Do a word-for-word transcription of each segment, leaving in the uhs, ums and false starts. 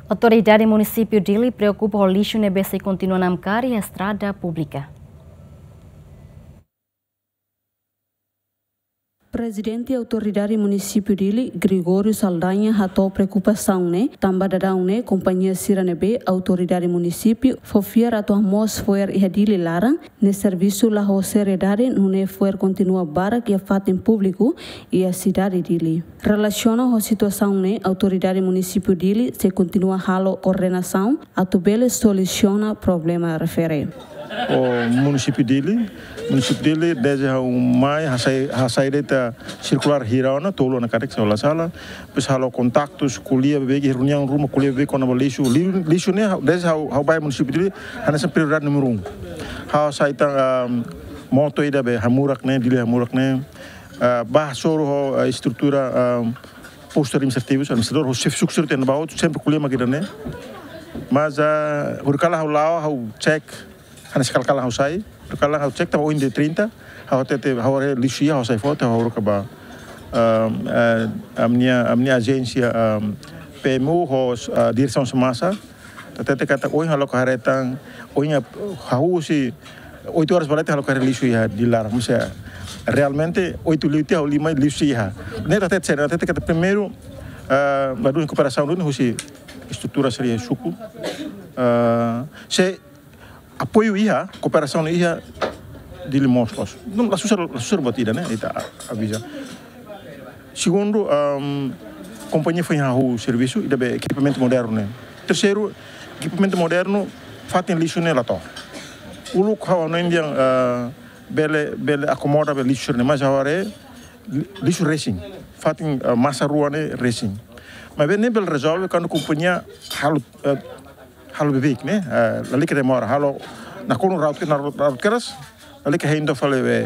Autoridade Munisípiu Dili preokupa ho lixu ne'ebé sei kontinua namkari iha estrada públika. Prezidente Autoridade Munisípiu Dili, Gregório Saldanha, hato'o preokupasaun ne'e, tanba daudaun ne'e kompañia sira ne'ebé Autoridade Munisípiu fó fiar atu hamoos fo'er iha Dili laran, ne'e servisu la ho seriedade, nune'e fo'er kontinua barak iha fatin públiku iha sidade Dili. Relasiona ho situasaun ne'e, Autoridade Munisípiu Dili sei kontinua halo koordenasaun atu bele solusiona problema refere. Ho Munisípiu Dili, Munisípiu Dili, dezde ha'u mai, hasai, hasai de'it sirkulár hira ona, tolu ona karik, se ha'u la sala. Depois halo kontaktus, ko'alia beibeik, reuniaun ruma, ko'alia beibeik kona-ba lixu. Li-, lixu ne'e, ha'u, dezde ha'u, ha'u bá Munisípiu Dili, hanesan prioridade númeru um. Ha'u hasai tan, ah, moto ida be hamurak ne'e, Dili hamurak ne'e. Ah, bá hasoru ho, ah, estrutura, ah, postu administrativu, administradór, ho xefe suku sira iha ne'ebá hotu, sempre ko'alia mak ida-ne'e. Mas, ah, horikalan ha'u la'o, ha'u cek, hanesan kala-kala ha'u sai, horikalan ha'u cek, tanba ohin dia trinta, ha'u hatete, ha'u haree lixu iha, ha'u sai foti, ha'u haruka ba, ah, ah, ami-nia, ami-nia ajénsia, ah, P M U, ho, ah, diresaun Semasa, hatete katak ohin ha'u loke haree tan, ohin ha'u husi oito horas ba leten ha'u loke haree lixu iha Dili laran. Maibé realmente oito liu tiha, ha'u lima liu sei iha. Ne'e hatete, hatete katak primeiru, ah, ladún kooperasaun duni husi estrutura sira iha suku. Ah, se apoiu iha, kooperasaun iha, Dili moos loos. Entaun, la susar, la susar buat ida-ne'e, ita aviza. Segundu, ahm, kompañia foin hahú servisu, ida be ekipamentu modernu ne'e. Terseiru, ekipamentu modernu, fatin lixu ne'e la to'o. Uluk ha'u hanoin dehan, ah, bele, bele akomoda be lixu ne'e, mas ha'u haree, li-, lixu resin. Fatin, ah, masa rua ne'e resin. Maibé ne'e bele rezolve kuandu kompañia halo, ah, halo beibeik ne'e, ah, lalika demora, halo nakonu raut ke, na raut keras, lalika hein to'o fali be,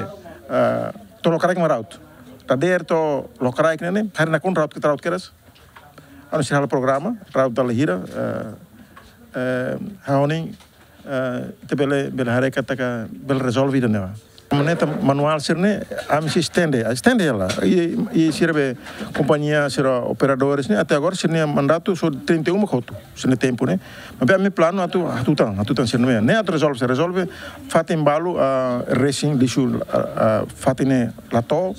ah, to'o lokraik mak raut. Dadeer to'o lokraik ne'e, ne'e, haree nakonu raut ke, raut keras. Anu sira halo programa, raut dala hira, ah, eh, ha'u hanoin, ah, ita bele, bele haree katak bele rezolve ida-ne'e. Maneira manuál sira-ne'e, ami sei estende, estende hela. I, i sira be kompañia sira operadores ne'e, até agora sira-nia mandatu só trinta e um mak hotu, sira-nia tempu ne'e. Maibé ami planu atu, hatutan, hatutan sira-ne'e. Ne'e atu rezolve, sei rezolve, fatin balu, ah, resin, lixu, ah, ah, fatin ne'e la to'o,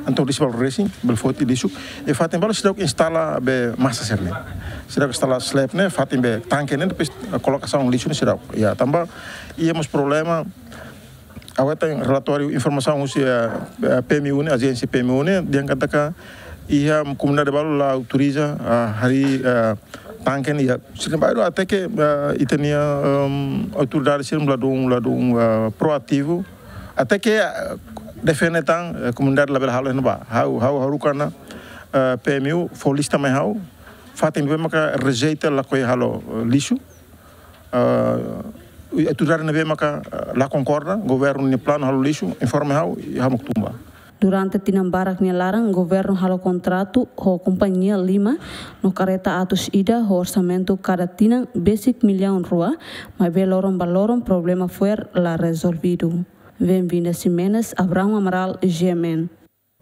entaun lixu balu resin, bele foti lixu. I fatin balu seidauk instala be masa sira-ne'e. Seidauk instala slab ne'e, fatin be tanke ne'e, depois, ah, kolokasaun lixu ne'e seidauk. Ya, tanba, iha mós problema, ha'u hetan relatóriu informasaun husi, eh, eh, P M U ne'e, ajénsia P M U ne'e, dehan katak iha komunidade balu la autoriza, ah, harii, ah, tanke ne'e iha. Sira-ne'e balu até ke, ah, ita-nia, ehm, autoridade sira ladún, ladún, ah, proativu. Até ke, ah, defende tan, eh, komunidade labele halo iha ne'ebá. Ha'u, ha'u haruka ona, eh, P M U, fó lista mai ha'u. Fatin ne'ebé maka rejeita lakohi halo, eh, lixu. Ah, autoridade ne'ebé maka, ah, la konkorda, governu nia planu halo lixu, informa ha'u, i ha'u mak tun ba. Durante tinan barak nia laran, governu halo kontratu ho kompañia lima, no karreta atus ida, ho orsamentu kada tinan besik millaun rua, maibé loron ba loron problema fo'er la rezolvidu. Benvinda Ximenes, Abrão Amaral, G M N.